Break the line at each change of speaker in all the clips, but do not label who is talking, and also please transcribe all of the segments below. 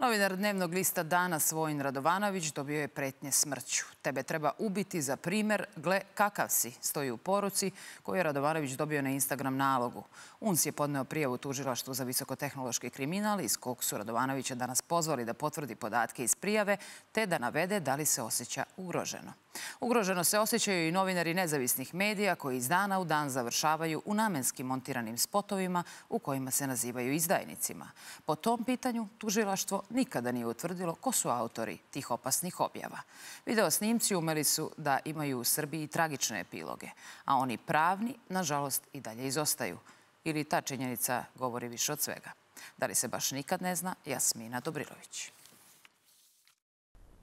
Novinar dnevnog lista Danas Vojin Radovanović dobio je pretnje smrću. Tebe treba ubiti za primer, gle kakav si, stoji u poruci koju je Radovanović dobio na Instagram nalogu. UNS je podneo prijavu tužilaštvu za visokotehnološki kriminal iz kog su Radovanovića danas pozvali da potvrdi podatke iz prijave te da navede da li se osjeća ugroženo. Ugroženo se osjećaju i novinari nezavisnih medija koji iz dana u dan završavaju u namenski montiranim spotovima u kojima se nazivaju izdajnicima. Po tom pitanju tužilaštvo nikada nije utvrdilo ko su autori tih opasnih objava. Video snimci umeli su da imaju u Srbiji tragične epiloge, a oni pravni, nažalost, i dalje izostaju. Ili ta činjenica govori više od svega. Da li se baš nikad ne zna, Jasmina Dobrilović.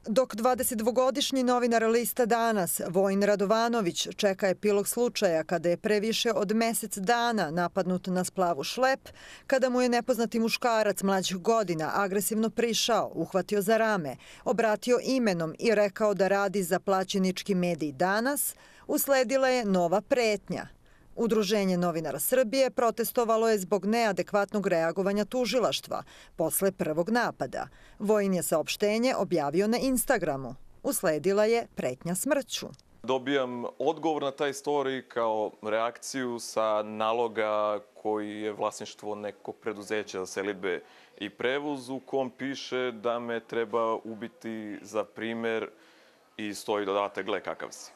Dok 22-godišnji novinar lista Danas, Vojin Radovanović, čeka epilog slučaja kada je pre više od mesec dana napadnut na splavu šlep, kada mu je nepoznati muškarac mlađih godina agresivno prišao, uhvatio za rame, obratio imenom i rekao da radi za plaćenički medij Danas, usledila je nova pretnja. Udruženje novinara Srbije protestovalo je zbog neadekvatnog reagovanja tužilaštva posle prvog napada. Vojin je saopštenje objavio na Instagramu. Usledila je pretnja smrću.
Dobijam odgovor na taj story kao reakciju sa naloga koji je vlasništvo nekog preduzeća za selidbe i prevoz u kom piše da me treba ubiti za primer i stoji dodatak gle kakav si.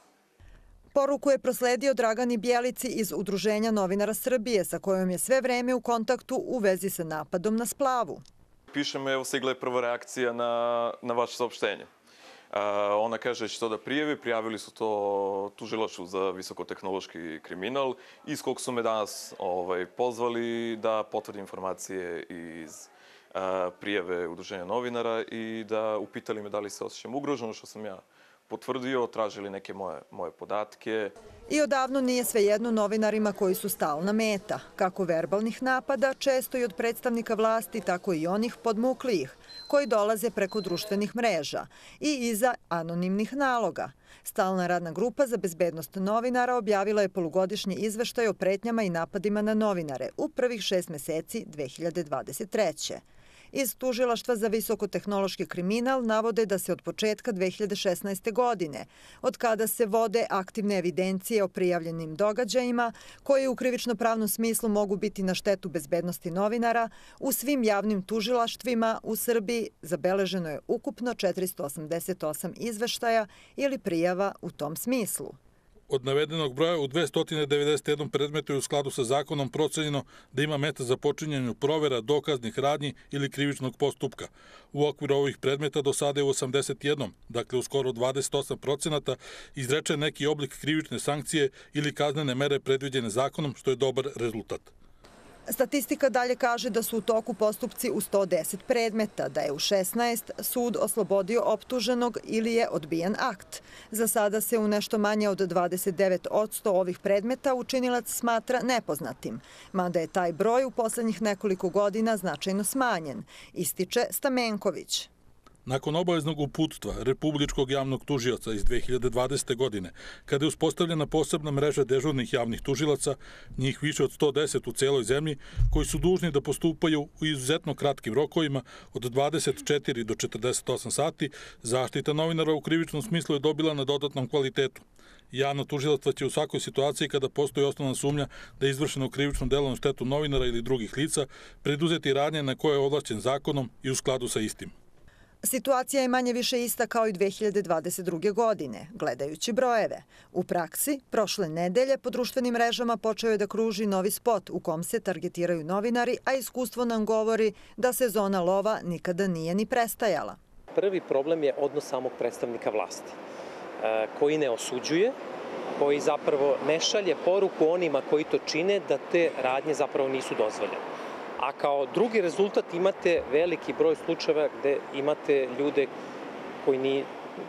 Poruku je prosledio Dragani Bjelici iz Udruženja novinara Srbije, sa kojom je sve vreme u kontaktu u vezi sa napadom na splavu.
Pišem, evo stigla je prva reakcija na vaše saopštenje. Ona kaže da će to da prijavi. Prijavili su to tužilaštvu za visokotehnološki kriminal, iz kog su me danas pozvali da potvrdim informacije iz prijave Udruženja novinara i da upitali me da li se osjećam ugroženo, što sam ja potvrdio, tražili neke moje podatke.
I odavno nije svejedno novinarima koji su stalna meta, kako verbalnih napada, često i od predstavnika vlasti, tako i onih podmuklijih, koji dolaze preko društvenih mreža i iza anonimnih naloga. Stalna radna grupa za bezbednost novinara objavila je polugodišnji izveštaj o pretnjama i napadima na novinare u prvih 6 meseci 2023. Iz Tužilaštva za visokotehnološki kriminal navode da se od početka 2016. godine, od kada se vode aktivne evidencije o prijavljenim događajima, koje u krivično-pravnom smislu mogu biti na štetu bezbednosti novinara, u svim javnim tužilaštvima u Srbiji zabeleženo je ukupno 488 izveštaja ili prijava u tom smislu.
Od navedenog broja u 291 predmetu je u skladu sa zakonom procenjeno da ima meta za počinjenju provera, dokaznih radnji ili krivičnog postupka. U okviru ovih predmeta do sada je u 81, dakle u skoro 28%, izrečen neki oblik krivične sankcije ili kaznene mere predviđene zakonom, što je dobar rezultat.
Statistika dalje kaže da su u toku postupci u 110 predmeta, da je u 16 sud oslobodio optuženog ili je odbijen akt. Za sada se u nešto manje od 29% ovih predmeta učinilac smatra nepoznatim, mada je taj broj u poslednjih nekoliko godina značajno smanjen, ističe Stamenković.
Nakon obaveznog uputstva Republičkog javnog tužioca iz 2020. godine, kada je uspostavljena posebna mreža dežurnih javnih tužilaca, njih više od 110 u celoj zemlji, koji su dužni da postupaju u izuzetno kratkim rokovima od 24 do 48 sati, zaštita novinara u krivičnom smislu je dobila na dodatnom kvalitetu. Javno tužilaštvo će u svakoj situaciji kada postoji osnovna sumnja da je izvršeno krivično delo na štetu novinara ili drugih lica, preduzeti radnje na koje je ovlašćen zakonom i u skladu sa istim.
Situacija je manje više ista kao i 2022. godine, gledajući brojeve. U praksi, prošle nedelje po društvenim mrežama počeo je da kruži novi spot u kom se targetiraju novinari, a iskustvo nam govori da sezona lova nikada nije ni prestajala.
Prvi problem je odnos samog predstavnika vlasti, koji ne osuđuje, koji zapravo ne šalje poruku onima koji to čine da te radnje zapravo nisu dozvoljene. A kao drugi rezultat imate veliki broj slučajeva gde imate ljude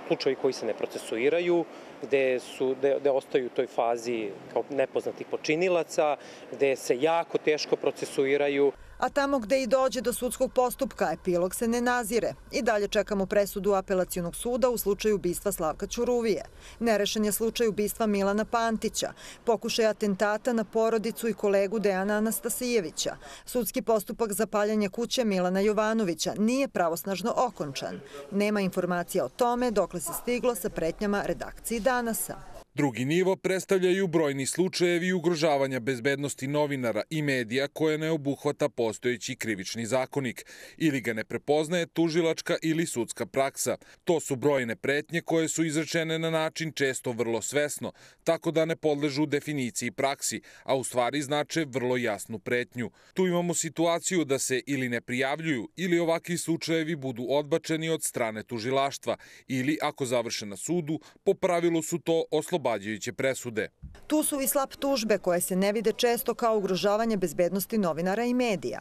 slučajevi koji se ne procesuiraju, gde ostaju u toj fazi kao nepoznatih počinilaca, gde se jako teško procesuiraju.
A tamo gde i dođe do sudskog postupka, epilog se ne nazire. I dalje čekamo presudu Apelacionog suda u slučaju ubistva Slavka Ćuruvije. Nerešen je slučaj ubistva Milana Pantića, pokušaj atentata na porodicu i kolegu Dejana Anastasijevića. Sudski postupak za paljanje kuće Milana Jovanovića nije pravosnažno okončan. Nema informacija o tome dokle se stiglo sa pretnjama redakciji Danasa.
Drugi nivo predstavljaju brojni slučajevi ugrožavanja bezbednosti novinara i medija koje ne obuhvata postojeći krivični zakonik ili ga ne prepoznaje tužilačka ili sudska praksa. To su brojne pretnje koje su izrečene na način često vrlo svesno, tako da ne podležu definiciji praksi, a u stvari znače vrlo jasnu pretnju. Tu imamo situaciju da se ili ne prijavljuju ili ovakvi slučajevi budu odbačeni od strane tužilaštva ili, ako završe na sudu, po pravilu su to oslobađajuće presude.
Tu su i slap tužbe koje se ne vide često kao ugrožavanje bezbednosti novinara i medija.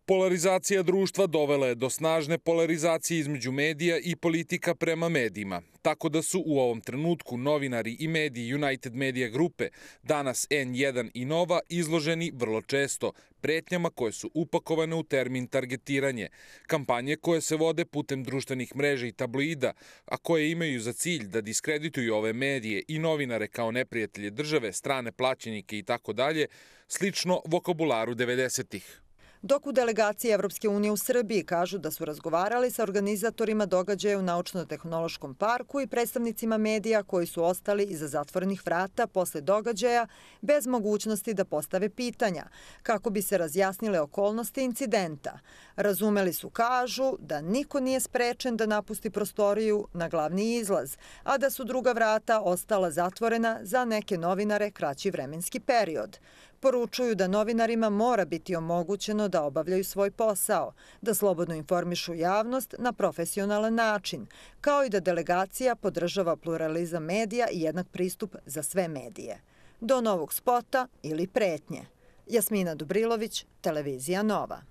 Polarizacija društva dovela je do snažne polarizacije između medija i politika prema medijima. Tako da su u ovom trenutku novinari i mediji United Media grupe, danas N1 i Nova, izloženi vrlo često pretnjama koje su upakovane u termin targetiranje. Kampanje koje se vode putem društvenih mreža i tabloida, a koje imaju za cilj da diskredituju ove medije i novinare kao neprijatelje države, strane plaćenike i tako dalje, slično vokabularu 90-ih.
Dok u delegaciji Evropske unije u Srbiji kažu da su razgovarali sa organizatorima događaja u Naučno-tehnološkom parku i predstavnicima medija koji su ostali iza zatvorenih vrata posle događaja bez mogućnosti da postave pitanja, kako bi se razjasnile okolnosti incidenta. Razumeli su, kažu, da niko nije sprečen da napusti prostoriju na glavni izlaz, a da su druga vrata ostala zatvorena za neke novinare kraći vremenski period. Poručuju da novinarima mora biti omogućeno da obavljaju svoj posao, da slobodno informišu javnost na profesionalan način, kao i da delegacija podržava pluralizam medija i jednak pristup za sve medije. Do novog spota ili pretnje. Jasmina Dubrilović, Televizija Nova.